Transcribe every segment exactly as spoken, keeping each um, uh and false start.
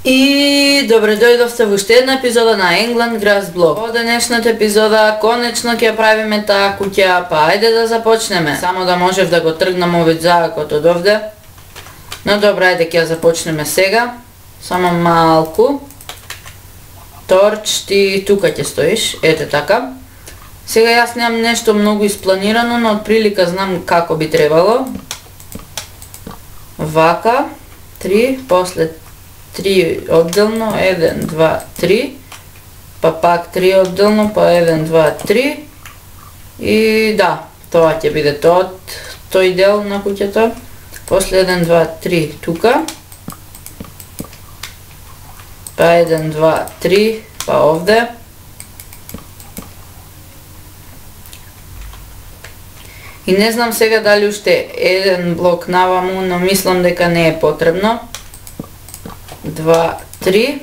И добре дојдовте во уште една епизода на England Grass Blog. Во денешната епизода конечно ќе правиме таа куќа, па ајде да започнеме. Само да можев да го тргнам овој заакот од овде. Но добре, ајде ќе започнеме сега. Само малку. Торч, ти тука ќе стоиш, ете така. Сега јас немам нешто многу испланирано, но отприлика знам како би требало. Вака, три, после три одделно, еден, два, три, па пак три одделно, па еден, два, три, и да, тоа ќе биде тоа, тој дел на куќата, после еден, два, три тука, па еден, два, три, па овде, и не знам сега дали уште еден блок наваму, но мислам дека не е потребно. Два, три.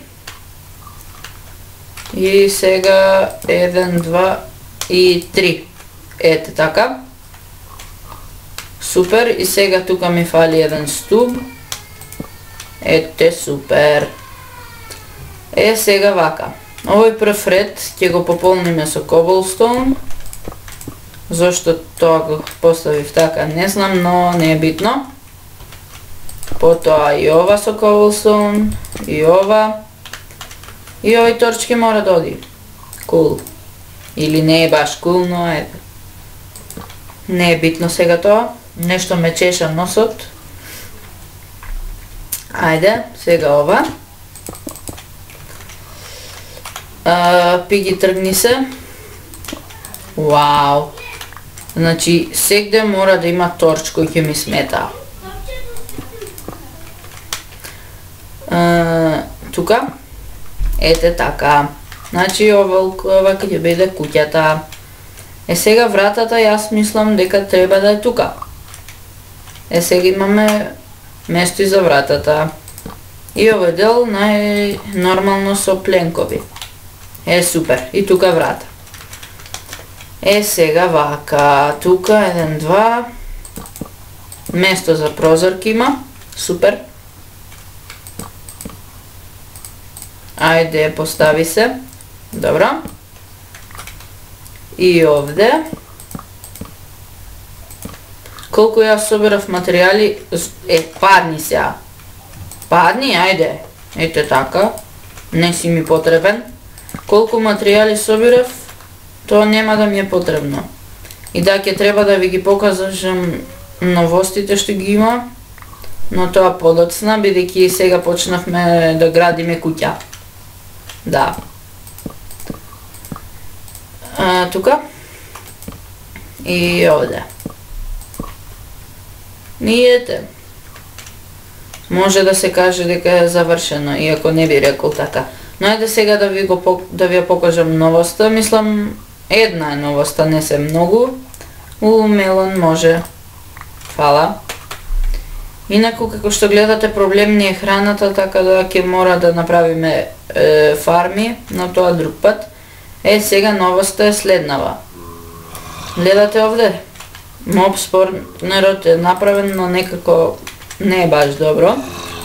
И сега еден, два и три. Ете така. Супер. И сега тука ми фали еден стуб. Ете супер. Е сега вака. Овој прв ред ќе го пополниме со cobblestone. Зошто тоа го поставив така не знам, но не е битно. Потоа и ова со cobblestone, и ова. И овој торчки мора да оди. Кул. Или не е баш кул, но е. Не е битно сега тоа. Нешто ме чеша носот. Ајде, сега ова. А, пиги тргни се. Вау. Значи, сегде мора да има торч кој ќе ми смета. Uh, тука, ете така. Значи ова ова ќе биде куќата. Е сега вратата јас мислам дека треба да е тука. Е сега имаме место и за вратата. И овој дел најнормално со пленкови. Е супер. И тука врата. Е сега вака. Тука еден, два. Место за прозорки има. Супер. Ајде, постави се. Добро. И овде. Колку јас собирав материјали, е, падни сега. Падни, ајде. Ете така. Не си ми потребен. Колку материјали собирав, тоа нема да ми е потребно. И да, ќе треба да ви ги покажам новостите што ги има, но тоа подоцна, бидејќи сега почнавме да градиме куќа. Да. А, тука. И овде. И ете. Може да се каже дека е завршено, иако не би рекол така. Но ајде сега да ви го да ви ја покажам новоста. Мислам една е новоста, не се многу. У мелон може. Фала. Инаку, како што гледате, проблем не е храната, така да ќе мора да направиме е, фарми, но тоа друг пат. Е, сега новоста е следнава. Гледате овде? Моб спорнерот е направен, но некако не е баш добро.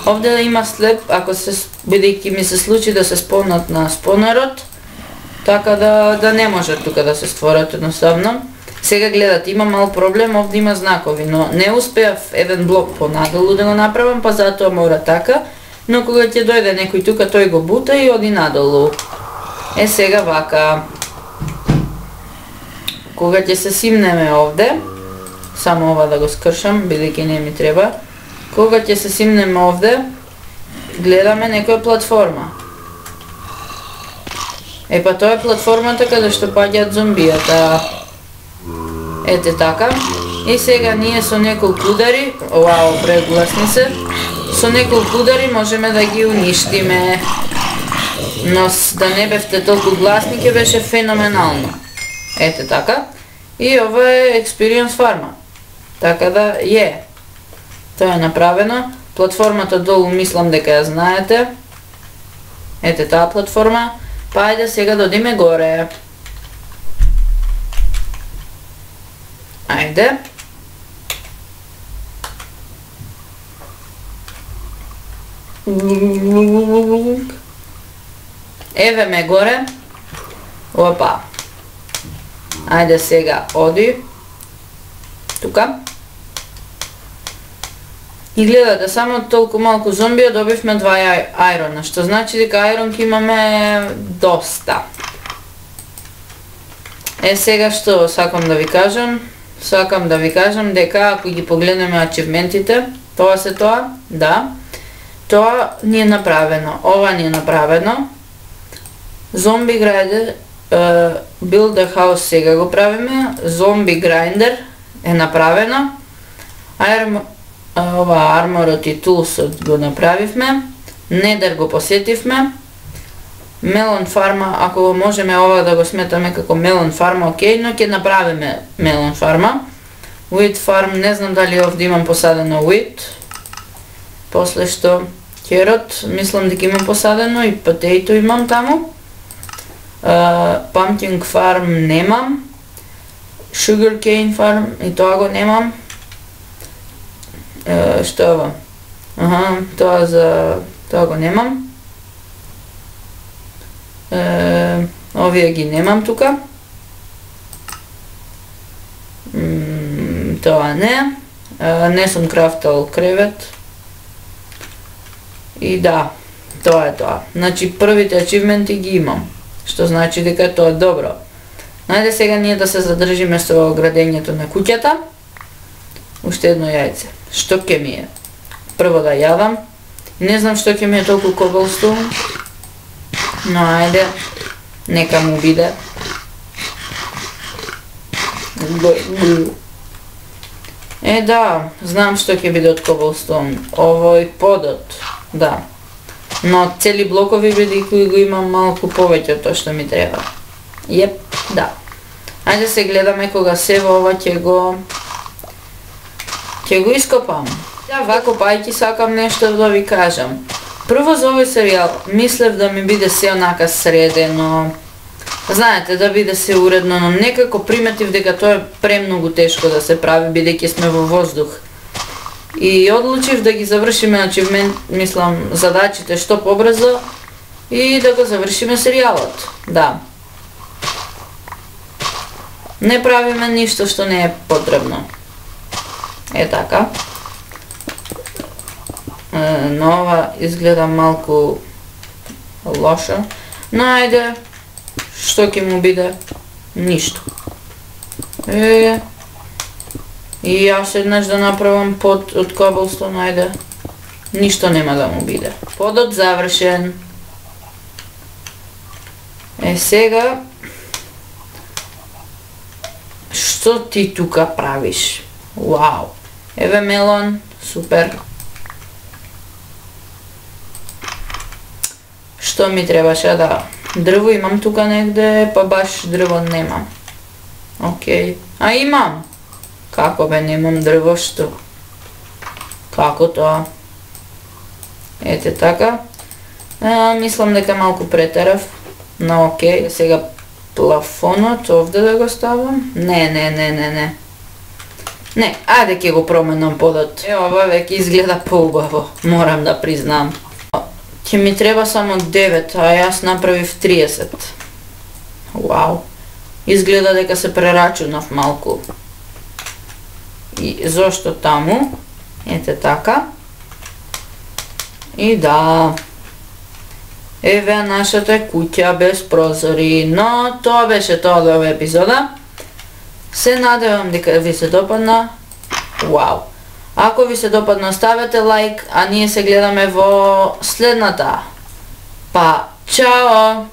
Овде има слеп, ако се, бидејќи ми се случи да се спомнат на спонерот, така да, да не може тука да се створат едноставно. Сега гледате, има мал проблем, овде има знакови, но не успеав еден блок понадолу да го направам, па затоа мора така, но кога ќе дојде некој тука, тој го бута и оди надолу. Е, сега вака. Кога ќе се симнеме овде, само ова да го скршам, бидејќи не ми треба, кога ќе се симнеме овде, гледаме некоја платформа. Е, па тоа е платформата каде што паѓаат зомбијата. Ете така. И сега ние со неколку удари, вау, прегласни се, со неколку удари можеме да ги уништиме. Но да не бевте толку гласни, ќе беше феноменално. Ете така. И ова е Experience Farma. Така да е. Тоа е направено. Платформата долу мислам дека ја знаете. Ете таа платформа. Па ајде сега да одиме горе. Ајде. Еве ме горе. Опа. Ајде сега оди. Тука. И гледате, само толку малку зомбија добивме два ајрона, што значи дека ајронки имаме доста. Е, сега што сакам да ви кажам? Сакам да ви кажам дека ако ги погледнеме ачивментите, тоа се тоа, да, тоа ни е направено, ова ни е направено. Зомби грајдер, Build a House сега го правиме, Зомби Грайндер е направено, Iron, ова Armorот и Toolsот го направивме, Недер го посетивме, Мелон фарма, ако можеме ова да го сметаме како мелон фарма, окей, но ќе направиме мелон фарма. Wheat farm, не знам дали овде имам посадено wheat. После што керот, мислам дека имам посадено и potato имам таму. Uh, pumpkin farm немам. Sugar cane farm, и тоа го немам. Uh, што е ова? Аха, тоа за... тоа го немам. Uh, овие ги немам тука. Mm, тоа не. Uh, не сум крафтал кревет. И да, тоа е тоа. Значи првите ачивменти ги имам. Што значи дека тоа е добро. Најде сега ние да се задржиме со градењето на куќата. Уште едно јајце. Што ќе ми е? Прво да јадам. Не знам што ќе ми е толку cobblestone. Но ајде. Нека му биде. Е да, знам што ќе биде од cobblestone. Овој подот. Да. Но цели блокови бидејќи го имам малку повеќе од тоа што ми треба. Јеп, да. Ајде се гледаме кога се во ова ќе го ќе го ископам. Да, вако пајки сакам нешто да ви кажам. Прво за овој серијал мислев да ми биде се онака средено. Знаете, да биде се уредно, но некако приметив дека тоа е премногу тешко да се прави бидејќи сме во воздух. И одлучив да ги завршиме ачивмент, мислам, задачите што побрзо и да го завршиме серијалот. Да. Не правиме ништо што не е потребно. Е така. Е, но ова изгледа малку лошо. Но ајде, што ќе му биде? Ништо. Е... И јас еднаш да направам под од cobblestone, ајде. Ништо нема да му биде. Подот завршен. Е сега... Што ти тука правиш? Вау! Еве мелон, супер. Што ми требаше да... Дрво имам тука негде, па баш дрво немам. Океј. А имам! Како бе, немам дрво, што? Како тоа? Ете така. А, мислам дека малку претерав. Но окей, сега плафонот овде да го ставам? Не, не, не, не, не. Не, ајде ќе го променам подот. Е, ова веќе изгледа поубаво, морам да признам. Ќе ми треба само девет, а јас направив триесет. Вау. Изгледа дека се прерачунав малку. И зошто таму? Ете така. И да. Еве нашата куќа без прозори. Но тоа беше тоа до оваа епизода. Се надевам дека ви се допадна. Вау. Ако ви се допадна, ставете лайк, а ние се гледаме во следната. Па, чао!